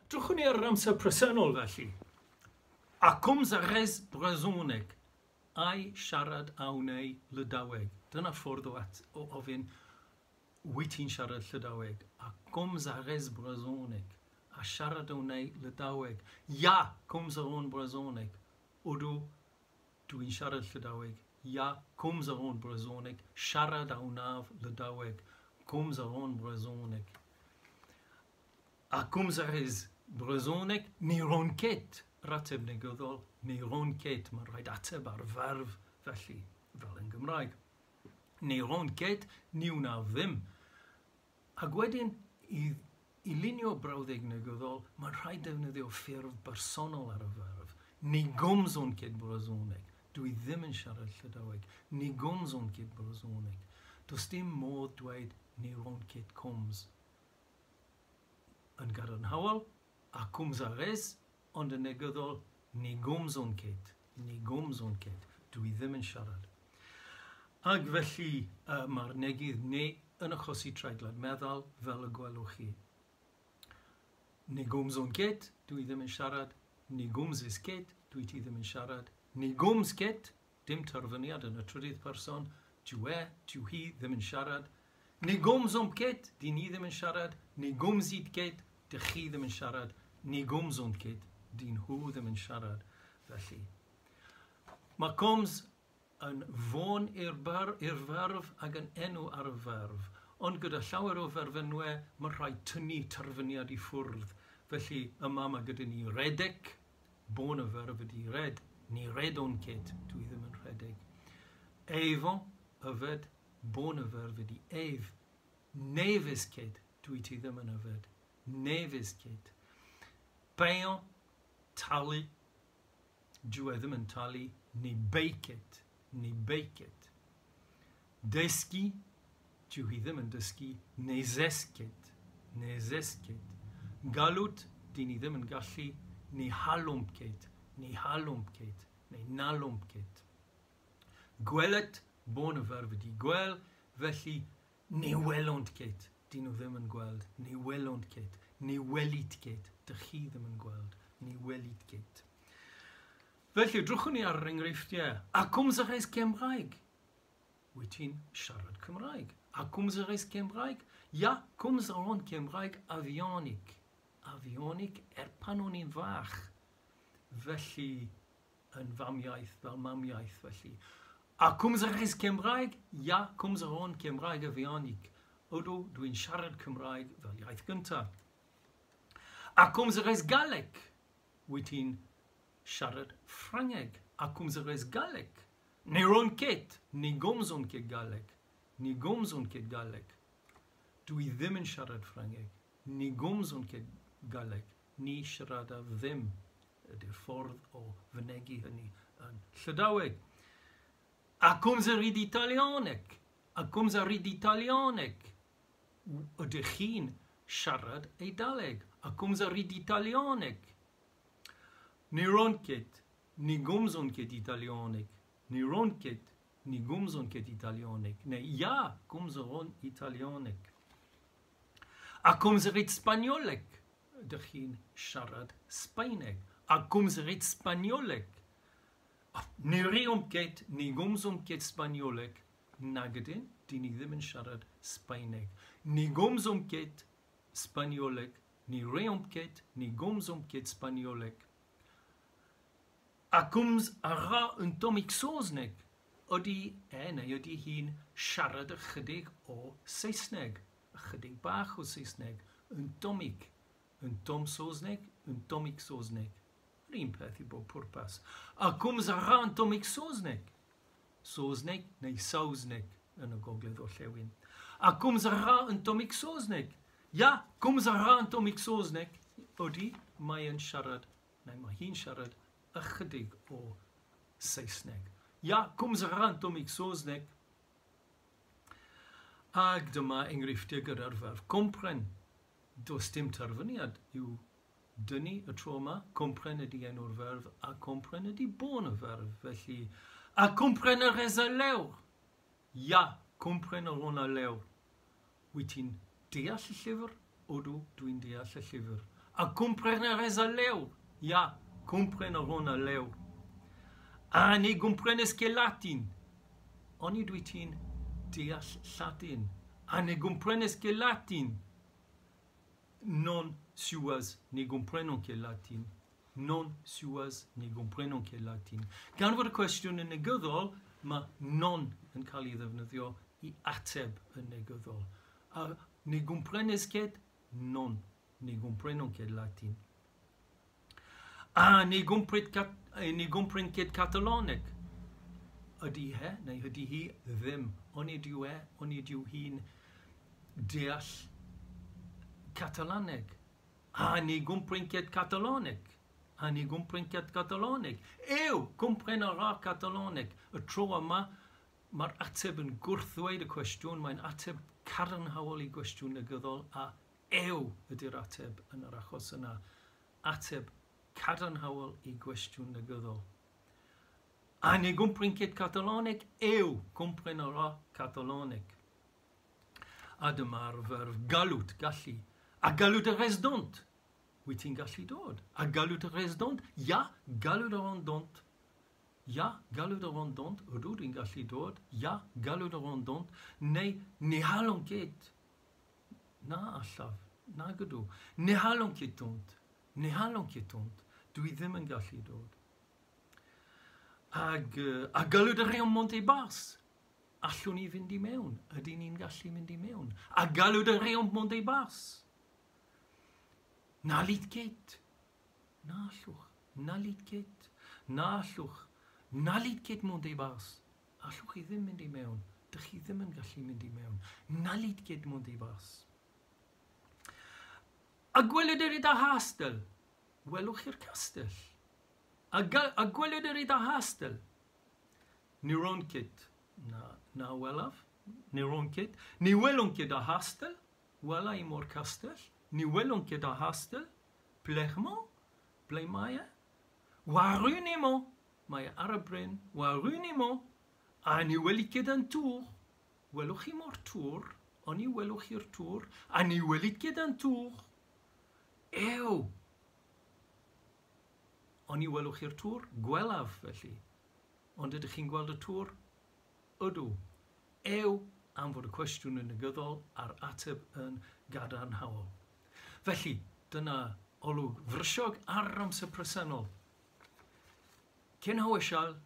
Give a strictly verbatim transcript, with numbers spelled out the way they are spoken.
Drychwn ni ar yr amser presennol felly. A komz a rez brezhoneg. Ai siarad a wnei Lydaweg. Dyna ffordd o, at, o ofyn wyt ti'n siarad Llydaweg. A komz a rez brezhoneg. A siarad a wnei Lydaweg. Ya, komz a ran brezhoneg. Odw, dwi'n siarad Llydaweg. Ya, komz a ran brezhoneg. Siarad a wnaf Lydaweg. Komz a ran brezhoneg. A komz a rez brezhoneg, ne ran ket. Yr ateb negyddol, ne ran ket. Mae'n rhaid ateb ar ferf felly, fel yn Gymraeg. Ne ran ket, ni wnaf ddim. Ac wedyn, i, i lunio brawddeg negyddol, mae'n rhaid defnyddio ffurf bersonol ar y ferf. Ne gomzan ket brezhoneg. Dwi ddim yn siarad Llydaweg. Ne gomzan ket brezhoneg. Does dim modd dweud ne ran ket komz. Yn gadarnhaol, a komz a rez, ond yn negyddol, ne gomzan ket. Ne gomzan ket. Dwi ddim yn siarad. Ac felly uh, mae'r negydd ne yn achosi treiglad meddal, fel y gwelwch chi. Ne gomzan ket, dwi ddim yn siarad. Ne gomzez ket, dwi ti ddim yn siarad. Ne gomz ket, dim terfyniad yn y trydydd person. Dyw e, dyw hi ddim yn siarad. Ne gomzomp ket, dyn ni ddim yn siarad. Ne gomzit ket, dych chi ddim yn siarad. Ne gomzont ket, dyn nhw ddim yn siarad. Felly, mae komz yn fôn i'r i'r ferf ac yn enw ar y ferf. Ond gyda llawer o ferfenwau, mae rhaid tynnu terfyniad i ffwrdd. Felly, yma mae gyda ni redeg, bôn y ferf ydy red. Ni redwn ket, dwi ddim yn rhedeg. Efañ, yfed, bôn y ferf ydy ef. N'evez ket, dwi ti ddim yn yfed. N'evez ket. Paeañ, talu, dyw e ddim yn talu, ne bae ket, ne bae ket. Deskiñ, dyw hi ddim yn dysgu, ne zesk ket, ne zesk ket. Gallout, dyn ni ddim yn gallu, ne c'hallomp ket, ne c'hallomp ket, neu n'hallomp ket. Gwelet, bôn y ferf ydy gwel, felly ne welont ket, dyn nhw ddim yn gweld, ne welont ket, ne welit ket, dych chi ddim yn gweld, ne welit ket. Felly, drychwn ni ar yr enghreifftiau. A komz a rez Cymraeg? Wyt ti'n siarad Cymraeg? A komz a rez Cymraeg? Ia, komz a ran Cymraeg a-vihanik. A-vihanik er pan o'n i'n fach. Felly, yn famiaith, fel mamiaith, felly. A komz a rez Cymraeg? Ia, komz a ran Cymraeg a-vihanik. Odw, dwi'n siarad Cymraeg fel iaith gyntaf. A komz a rez Galleg? Wyt ti'n siarad Ffrangeg? A komz a rez Galleg? Ne ran ket, ne gomzan ket galleg. Ne gomzan ket galleg. Dwi ddim yn siarad Ffrangeg. Ne gomzan ket galleg. Ni siaradaf ddim. Ydy'r ffordd o fynegi hynny yn Llydaweg. A komz a rit Italianeg? A komz a rit Italianeg? Ydych chi'n siarad Eidaleg? A komz a rit Italianeg? Ne ran ket, ne gomzan ket Italianeg. Ne ran ket, ne gomzan ket Italianeg. Neu ia, komz a ran Italianeg. A komz a rit Spagnoleg? Ydych chi'n siarad Sbaeneg? A komz a rit Spagnoleg? Ne reomp ket, ne gomzomp ket Spagnoleg. Nag ydyn, dyn ni ddim yn siarad Sbaeneg. Ne gomzomp ket Spagnoleg. Ne reomp ket, ne gomzomp ket Spagnoleg. A komz a ra un tammig saozneg? Ydy e neu ydy hi'n siarad ychydig o Saesneg? Ychydig bach o Saesneg. Un tammig. Un tamm saozneg, un tammig saozneg. Yr un peth i bob pwrpas. A komz a ra un tammig saozneg? Saozneg neu Saesneg yn y gogledd orllewin. A komz a ra un tammig saozneg? Ia, komz a ra un tammig saozneg. Ydy, mae yn siarad, neu mae hi'n siarad ychydig o Saesneg. Ia, komz a ra un tammig saozneg. Ac dyma enghreifftiau gyda'r ferf kompren. Does dim terfyniad i'w dynnu y tro yma. Kompren ydy enw'r ferf a kompren ydy bôn y ferf. Felly, a kompren a rez al levr? Ia, kompren a ran al levr. Wyt ti'n deall y llyfr? Odw, dwi'n deall y llyfr. Ha kompren a rez al levr? Ya, kompren a ran al levr. Ha ne gomprenez ket latin? Onid wyt ti'n deall Lladin? Ha ne gomprenez ket latin? Non, siwazh, ne gomprenan ket latin. Non, siwazh, ne gomprenan ket latin. Gan fod y cwestiwn yn negyddol, mae non yn cael ei ddefnyddio i ateb yn negyddol. A ne gomprenez ket? Non, ne gomprenan ket latin. A ne gompren kat, ne gompren ket Katalaneg? Ydy he, neu ydy hi ddim. Onid yw e, onid yw hi'n deall Katalaneg? A ne gompren ket Katalaneg? A ne gompren ket Katalaneg? Ew, kompren a ra Katalaneg. Y tro yma, mae'r ateb yn gwrthddweud y cwestiwn, mae'n ateb cadarnhaol i gwestiwn negyddol, a ew ydy'r ateb yn yr achos yna. Ateb cadarnhaol i gwestiwn negyddol. A ne gompren ket Katalaneg? Ew, kompren a ra Katalaneg. A dyma'r ferf gallout, gallu. Ha gallout a rez dont? Wyt ti'n gallu dod? Ha gallout a rez dont? Ya, gallout a ran dont. Ya, gallout a ran dont. Ydw, dwi'n gallu dod. Ya, gallout a ran dont. Neu, ne c'hallan ket. Na allaf, nag ydw. Ne c'hallan ket dont. Ne c'hallan ket dont. Dwi ddim yn gallu dod. Hag, ha gallout a reomp mont e-barzh? Allwn ni fynd i mewn? Ydy ni'n gallu mynd i mewn? Ha gallout a reomp mont e-barzh? N'hallit ket. Na allwch. N'hallit ket. Na allwch. N'hallit ket mont e-barzh. Allwch chi ddim mynd i mewn. Dych chi ddim yn gallu mynd i mewn. N'hallit ket mont e-barzh. Ha gwelet a rit ar c'hastell? Welwch chi'r castell? Ha, ha gwelet a rit ar c'hastell? Ne ran ket. Na, na welaf. Ne ran ket. Ne welan ket ar c'hastell. Wela i mo'r castell. Ne welan ket ar c'hastell. Pelec'h emañ? Ble mae e? War run emañ. Mae e ar y bryn. War run emañ. Ha ne welit ket an tour. Welwch chi mo'r tŵr? Oni welwch chi'r tŵr? Ha ne welit ket an tour? Ew! Oni welwch chi'r tŵr? Gwelaf, felly. Ond ydych chi'n gweld y tŵr? Ydw. Ew, am fod y cwestiwn yn negyddol a'r ateb yn gadarnhaol. Felly, dyna olwg frysiog ar amser presennol. Cyn hawesial,